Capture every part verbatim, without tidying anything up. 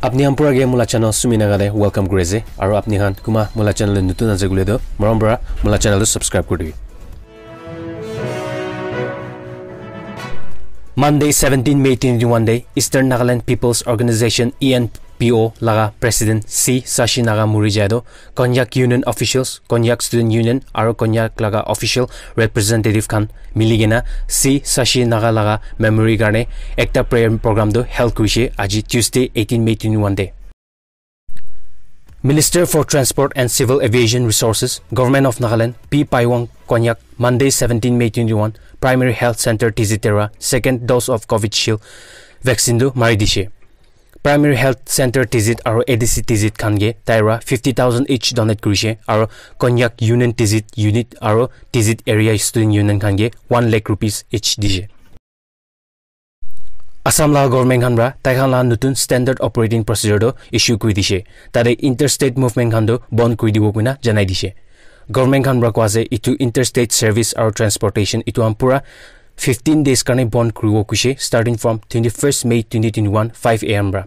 Apni khan pura ke mula channel Sumi Naga te welcome kuri ase. Aru apni khan kuma mula channel te nutun ase koile toh, morom para mula channel tu subscribe kuri dibi. Monday seventeen May twenty twenty-one te Eastern Nagaland People's Organization, E N P O, laga President C Sashi Naga muri jai toh Konyak Union officials, Konyak Student Union aru Konyak laga official representative khan mili kena C Sashi Naga laga memory karne ekta prayer program tu held kurishe aji Tuesday eighteen May twenty-one te. Minister for Transport and Civil Aviation Resources, Government of Nagaland, P Paiwang Konyak, Monday seventeen May twenty-one, Primary Health Center Tizit te ra second dose of Covishield vaccine tu mari dishe. Primary Health Center Tizit aru A D C Tizit khan ke taira fifty thousand each donate kurishe aru Konyak Union Tizit Unit aru Tizit Area Student Union khan ke one lakh rupees each dishe. Assam laga government khan para tai khan laga nutun standard operating procedure tu issue kuri dishe. Tate interstate movement khan tu bond kuri dibo koina janai dishe. Government khan para koa ase itu interstate service aru transportation itu khan pura fifteen days karne bond kuribo kuishe, starting from twenty-first May twenty twenty-one, five A M para.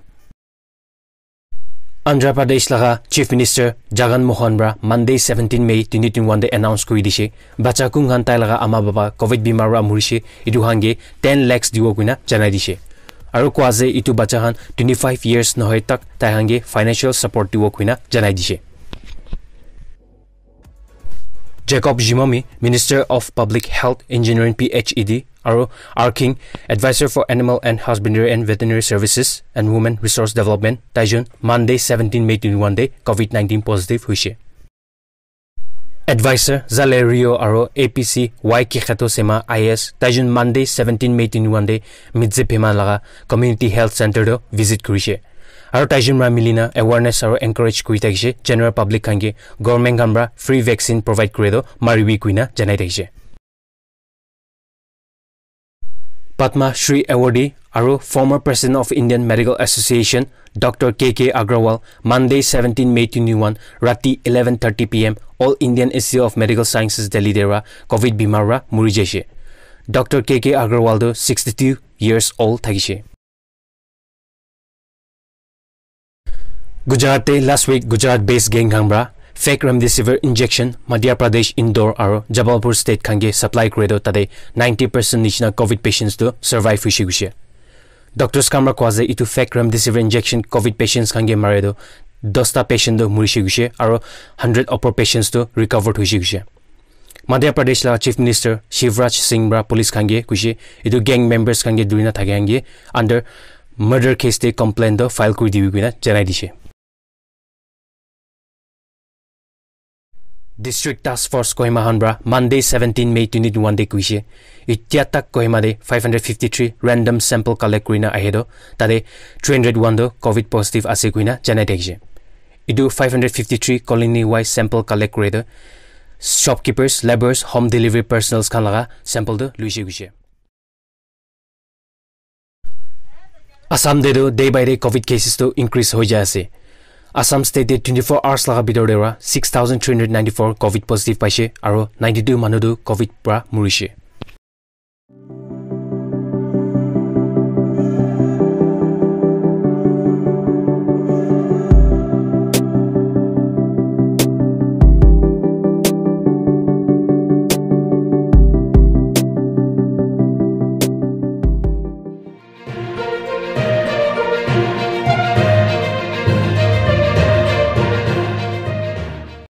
Andhra Pradesh laga Chief Minister Jagan Mohan para Monday seventeen May twenty twenty-one te announce kuri dishe, bacha kun khan tai laga ama baba Covid bimar para murishe, itu khan ke ten lakhs dibo koina janai dishe. Aru koa ase itu bacha khan twenty-five years nohoi tak tai khan ke financial support dibo koina janai dishe. Jacob Jimomi, Minister of Public Health, Engineering, P H E D, aru R King, Advisor for Animal and Husbandry and Veterinary Services and Women Resource Development, taijun Monday seventeen May twenty-one te Covid nineteen positive hoishe. Advisor Zale Rio aru A P C Y Kikheto Sema I A S, taijun Monday seventeen May twenty-one te Midze Phema laga Community Health Center to visit kurishe. Aru taijun para milina awareness aru encourage kuri thakishe, general public khan ke government khan para free vaccine provide kure to maribi kuina janai thakishe. Padma Shri Awardee aru former President of Indian Medical Association, Doctor K K Agrawal, Monday seventeen May twenty-one, rati eleven thirty P M, All Indian Institute of Medical Sciences Delhi te ra Covid bimar ra muri jaishe. Doctor K K Agrawal tu sixty-two years old thakishe. Gujarat te last week Gujarat based gang khan para fake remdesivir injection Madhya Pradesh, Indore aru Jabalpur state khan ke supply kure to tate ninety percent nishina Covid patients to survive hoishe gushe. Doctors khan para koa ase itu fake remdesivir injection Covid patients khan ke mare to dosta patient to murishe gushe aru hundred upper patients to recovered hoishe gushe. Madhya Pradesh la Chief Minister Shivraj Singh para police khan ke kuishe itu gang members khan ke durina thake khan ke under murder case te complaint to file kuri dibi kuina janai dishe. District Task Force Kohima khan para Monday seventeen May twenty twenty-one te kuishe, itya tak Kohima te five hundred fifty-three random sample collect kurina ahe to tate three hundred one to Covid positive ase kuina janai thakishe. Itu five hundred fifty-three colony wise sample collect kure to shopkeepers, labourers, home delivery personnels khan laga sample tu luishe gushe. Assam te tu day by day Covid cases tu increase hoi jai ase. Assam state te twenty-four hours laga bitor te ra six thousand three hundred ninety-four Covid positive paishe aru ninety-two manu tu Covid pra murishe.